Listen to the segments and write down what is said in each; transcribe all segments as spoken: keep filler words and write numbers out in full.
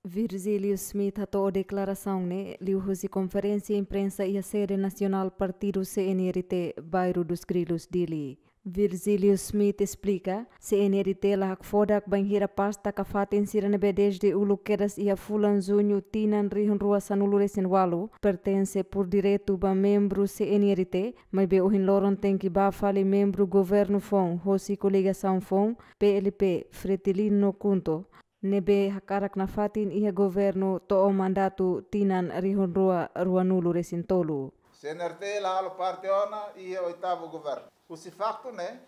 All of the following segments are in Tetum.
Virgílio Schmidt hato'o deklarasaun ne'e liuhusi konferénsia imprensa iha sede nasionál partidu C N R T, Bairro dos Grilos, Dili. Virgílio Schmidt esplika, C N R T la hakfodak bainhira pasta ka fatin sira ne'ebé dezde uluk kedas iha fulan Juñu tinan rihun rua sanulu resin ualu, pertense por direitu ba membru C N R T, maibé ohin loron tenke ba fali membru governu foun, hosi koligasaun foun, P L P, Fretilin no KHUNTO, ne'ebé hakarak nafatin iha governu to'o mandatu tinan rihun rua ruanulu resin tolu. C N R T la halo parte ona iha oitavu governu. Husi faktu ne'e,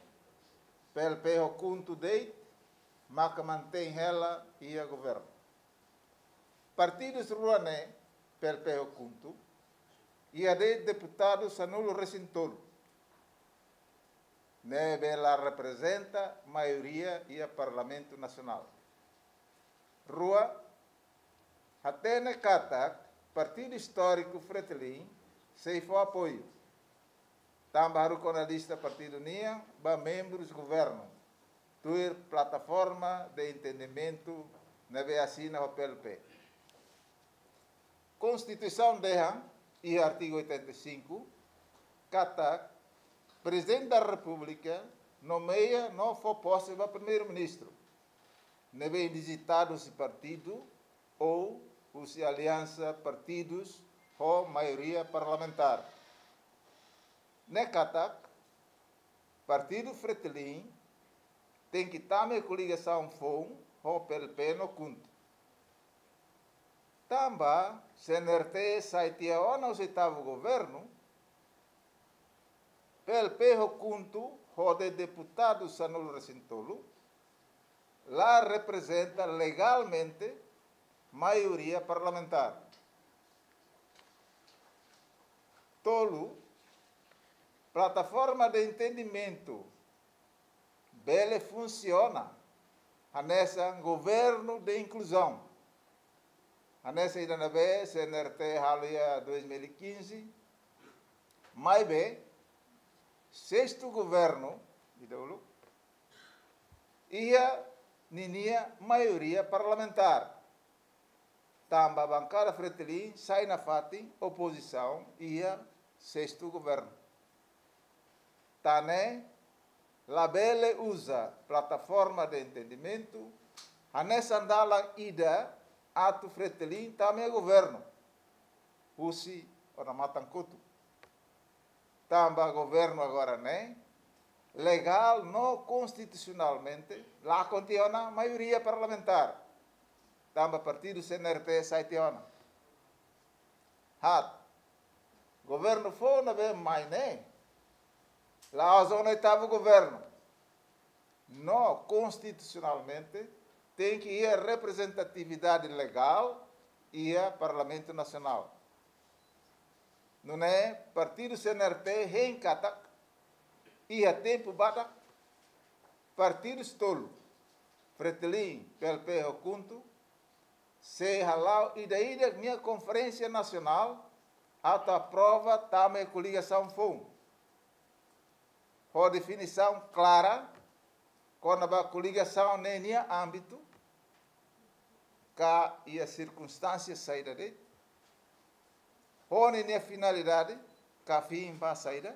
P L P ho KHUNTO de'it maka mantein hela iha governu. Partidus rua ne'e, P L P ho KHUNTO, iha de'it deputadu sanulu resin tolu, ne'ebé la reprezenta maioria iha Parlamentu Nasionál. Rua, hatene katak partidu istóriku Fretilin sei fó apoiu, tanba haruka ona lista partidu nian ba membrus governu, tuir plataforma de entendimentu ne'ebé asina ho P L P. Konstituisaun dehan iha artigu oitenta e cinco katak Prezidente da Repúblika nomeia no fó pose ba Primeiru-Ministru ne'ebé indizitadu husi partidu ou husi aliansa partidus ho maioria parlamentár. Ne'e katak, partidu Fretilin tenke tama iha koligasaun foun ho P L P no KHUNTO. Tanba C N R T sai tiha ona husi oitavu governu, P L P ho KHUNTO ho de'it deputadu sanulu resin tolu la reprezenta legalmente maioria parlamentár. Tolu, plataforma de entendimentu bele funsiona hanesan governu de inkluzaun, hanesan ida ne'ebé C N R T halo iha dois mil e quinze, maibé sestu governu ida uluk iha ninia maioria parlamentár, tanba bankada Fretilin sai nafatin opozisaun iha sestu governu. Tan ne'e, labele uza plataforma de entendimentu hanesan dalan ida atu Fretilin tama iha governu husi ona matan kotuk. Tanba governu agora ne'e legál no konstitusionalmente lakon tiha ona maioria parlamentár, tanba partidu C N R T sai tiha ona. Haat, governu foun ne'ebé mai ne'e la'ós ona oitavu governu. No konstitusionalmente tenke iha reprezentatividade legál iha Parlamentu Nasionál. Nune'e partidu C N R T hein katak iha tempu badak partidus tolu, Fretilin, P L P ho KHUNTO, sei hala'o ida-idak nia konferénsia nasionál atu aprova tama iha koligasaun foun, ho definisaun klara kona-ba koligasaun ne'e nia ámbitu, ka iha sirkunstánsia saida de'it, ho ninia finalidade ka fin ba saida,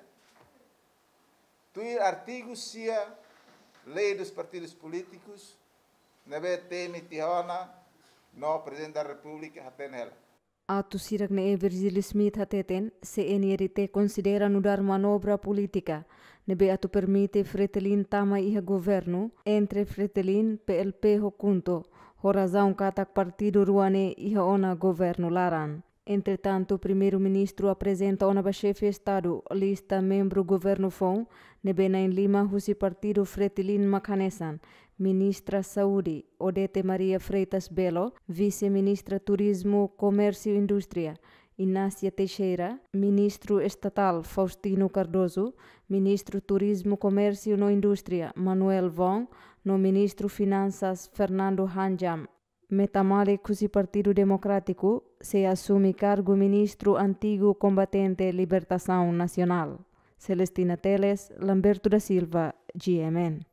tuir artigu sia Lei dos Partidos Políticos, ne'ebé temi tiha ona no Prezidente da Repúblika hatene hela. Atu hirak ne'e Virgílio Schmidt hateten, C N R T konsidera nu'udar manobra polítika ne'ebé atu permite Fretilin tama iha governu entre Fretilin, P L P ho KHUNTO, ho razaun katak partidu rua ne'e iha ona governu laran. Entretantu, Primeiru-Ministru aprezenta ona ba Xefe Estadu lista membru governu foun ne'ebé na'in lima husi partidu Fretilin mak hanesan: Ministra Saúde, Odete Maria Freitas Belo, Vise-Ministra Turizmu, Komérsiu Indústria, Inácia Teixeira, Ministru Estatál Faustino Cardoso, Ministru Turizmu, Komérsiu no Indústria, Manuel Vong, no Ministru Finansas, Fernando Hanjam. Meta Malik husi Partidu Demokrátiku sei asume kargu ministru antigu kombatente libertasaun nasionál. Celestina Teles, Lamberto da Silva, G M N.